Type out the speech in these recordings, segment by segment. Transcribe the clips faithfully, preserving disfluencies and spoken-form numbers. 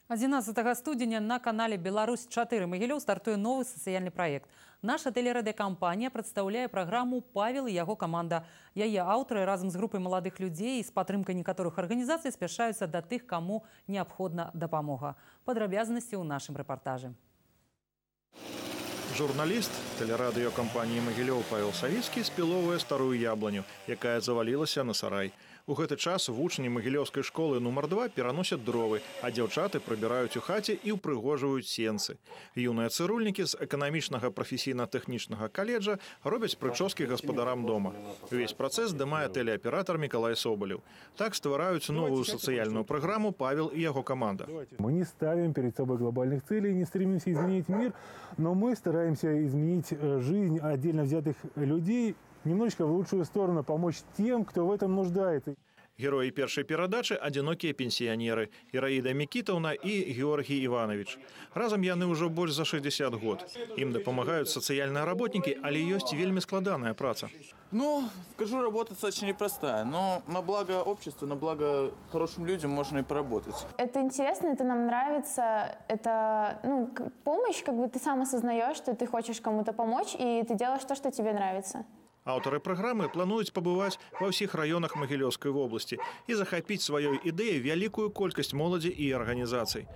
адзінаццатага студзеня на канале «Беларусь чатыры Магілёў» стартуе новы сацыяльны праект. Наша тэлерадыёкампанія прадстаўляе праграму «Павел і яго каманда». Яе аўтары разам з групай маладых людзей і з падтрымкай некаторых арганізацый спяшаюцца да тых, каму неабходна дапамога. Падрабязнасці ў нашым рэпартажы. Журналіст тэлерадыёкампаніі «Магілёў» Павел Савіцкі спіловуе старую ябланю, якая завалілася на сарай. У гэты час вучні Магілёўскай школы нумар два пераносяць дровы, а дзяўчаты прыбіраюць у хаце і ўпрыгожваюць сенцы. Юныя цырульнікі з эканамічнага прафесійна-тэхнічнага каледжа робяць прычоскі гаспадарам дома. Увесь працэс здымае тэлеаператар Мікалай Соболев. Так ствараюць новую сацыяльную праграму «Павел и его команда». Мы не ставим перед собой глобальных целей, не стремимся изменить мир, но мы стараемся изменить жизнь отдельно взятых людей немножечко в лучшую сторону, помочь тем, кто в этом нуждается. Герои першай перадачы – одинокие пенсионеры Ираида Микитовна и Георгий Иванович. Разом яны ўжо больш за шестьдесят год. Им дапамагаюць сацыяльныя работники, але ёсць вельмі складаная праца. Ну, скажу, работа достаточно непростая, но на благо обществу, на благо хорошим людям можно и поработать. Это интересно, это нам нравится, это ну, помощь, как бы ты сам осознаешь, что ты хочешь кому-то помочь, и ты делаешь то, что тебе нравится. Аўтары праграмы плануюць пабываць ва ўсіх раёнах Магілёўскай вобласці і захапіць сваёй ідэяй вялікую колькасць моладзі і арганізацый.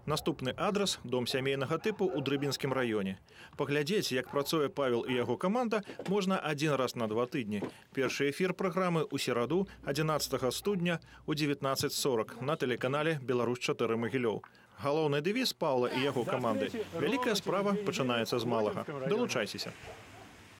Наступны адрес – дом сямейнага тыпу ў Дрыбінскім раёне. Паглядзець, як працуе Павел і яго каманда, можна адзін раз на два тыдні. Першы эфір праграмы ў сераду адзінаццатага студня ў дзевятнаццаць сорок на тэлеканале «Беларусь чатыры Магілёў». Галоўны дэвіз Паўла і яго каманды – вялікая справа пачынаецца з малага. Далучайцеся.